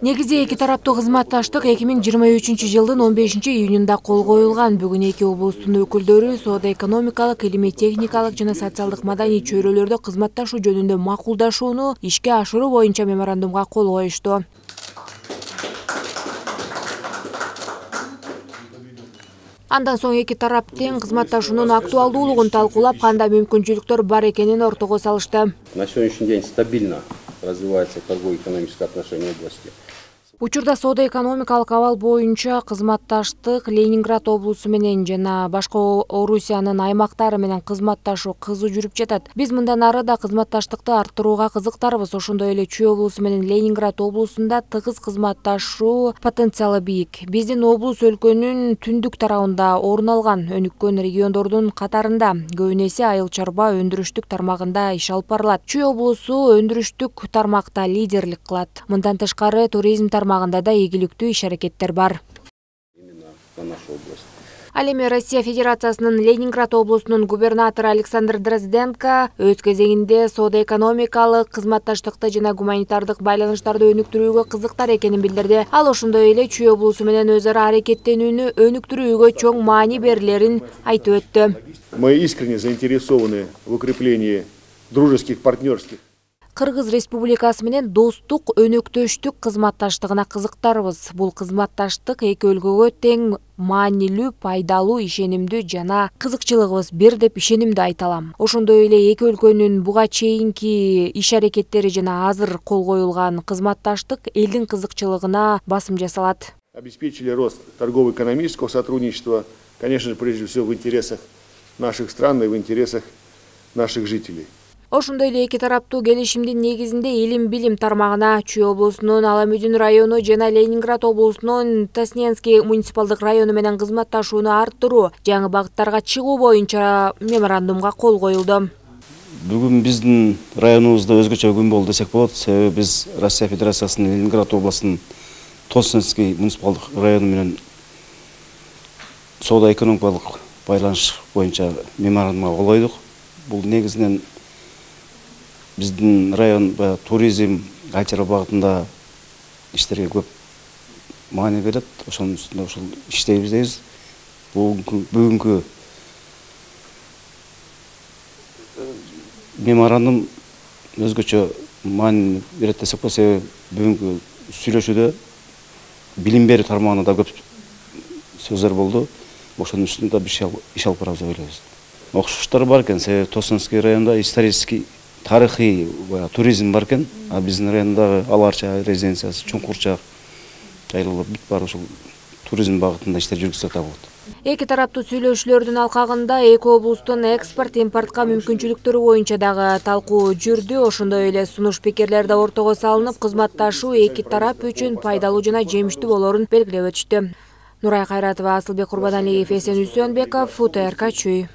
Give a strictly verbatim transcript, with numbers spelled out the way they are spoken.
Негизи эки тараптуу кызматташтык эки миң жыйырма үчүнчү жылдын он бешинчи июнунда кол коюлган. Бүгүн эки облустун өкүлдөрү соода-экономикалык, илимий-техникалык жана социалдык маданий чөйрөлөрдө кызматташуу жөнүндө макулдашууну ишке ашыруу боюнча меморандумга кол коюшту. Андан соң эки тараптын кызматташуунун актуалдуулугун талкуулап, кандай мүмкүнчүлүктөр бар экенин ортого салышты. На сегодняшний день стабильно развивается торгово-экономическое отношение в области. Учурда соода-экономикалык абал боюнча кызматташтык Ленинград облусу менен жана башка Орусиянын аймактары менен кызматташуу кызуу жүрүп жатат. Биз мындан ары да кызматташтыкты арттырууга кызыктарбыз. Ошондой эле Чүй облусу менен Ленинград облусунда тыгыз кызматташуу потенциалы бийик. Биздин облус өлкөнүн түндүк тарабында орун алган өнүккөн региондордун катарында, көбүн эсе айыл чарба өндүрүштүк тармагында иш алып барылат. Чүй облусу өндүрүштүк тармакта лидерлик кылат. Мындан тышкары туризм тармагында да ийгиликтүү иш-аракеттер бар. Ал эми Россия Федерациясынын Ленинград облусунун губернатору Александр Дрозденко өз кезегинде соода-экономикалык кызматташтыкты жана гуманитардык байланыштарды өнүктүрүүгө кызыктар экенин билдирди. Ал ошондой эле Чүй облусу менен өз ара аракеттенүүнү өнүктүрүүгө чоң маани берилерин айтып өттү. Мы искренне заинтересованы в укреплении дружеских партнерских. Кыргыз Республикасы менен достук, өнөктөштүк кызматташтыгына кызыктарбыз. Бул кызматташтык эки өлкөгө тең маанилүү, пайдалуу, ишенимдүү жана кызыкчылыгыбыз бир деп ишенимдүү айта алам. Ошондой эле эки өлкөнүн буга чейинки иш-аракеттери жана азыр кол коюлган кызматташтык элдин кызыкчылыгына басым жасалат. Обеспечили рост торгово-экономического сотрудничества, конечно же, прежде всего в интересах наших стран и в интересах наших жителей. Ошондой эле эки тараптуу келишимдин негизинде илим-билим тармагына Чүй облусунун Аламүдүн району жана Ленинград облусунун Тасненский муниципалдык району менен кызматташууну арттыруу, жаңы багыттарга чыгуу боюнча меморандумга кол коюлду. Бүгүн биздин районубузда өзгөчө күн болду десек болот. Себеби биз Россия Федерациясынын Ленинград облусунун Тасненский муниципалдык району менен соода-экономикалык байланыш боюнча меморандумга кол койдук. Бул негизинен биздин район туризм, айыл чарба багытында иштерге көп маани берет. Ошонун үстүндө ошол иштейбиз дейбиз. Бүгүнкү меморандум өзгөчө маани берет десек болот. Себеби бүгүнкү сүйлөшүүдө билим берүү тармагында да көп сөздөр болду. Ошонун үстүндө бир иш алып барабыз деп ойлойбуз. Окшоштор бар экен. Себеби Тасненский районунда исторический тарыхый туризм бар экен, а биздин райондагы Аларча резиденциясы, Чуңкурчак жайлоолор бүт бар ошол туризм багытында иштер жүргүзсөк да болот. Эки тараптуу сүйлөшүүлөрдүн алкагында эки облустун экспорт, импортко мүмкүнчүлүктөрү боюнча дагы талкуу жүрдү. Ошондой эле сунуш пикирлер да ортого салынып, кызматташуу эки тарап үчүн пайдалуу жана жемиштүү болорун белгилеп өтүштү. Нурай Кайратова, Асылбек Курбаналиев, Эсен Үсөнбеков, УТРК Чүй.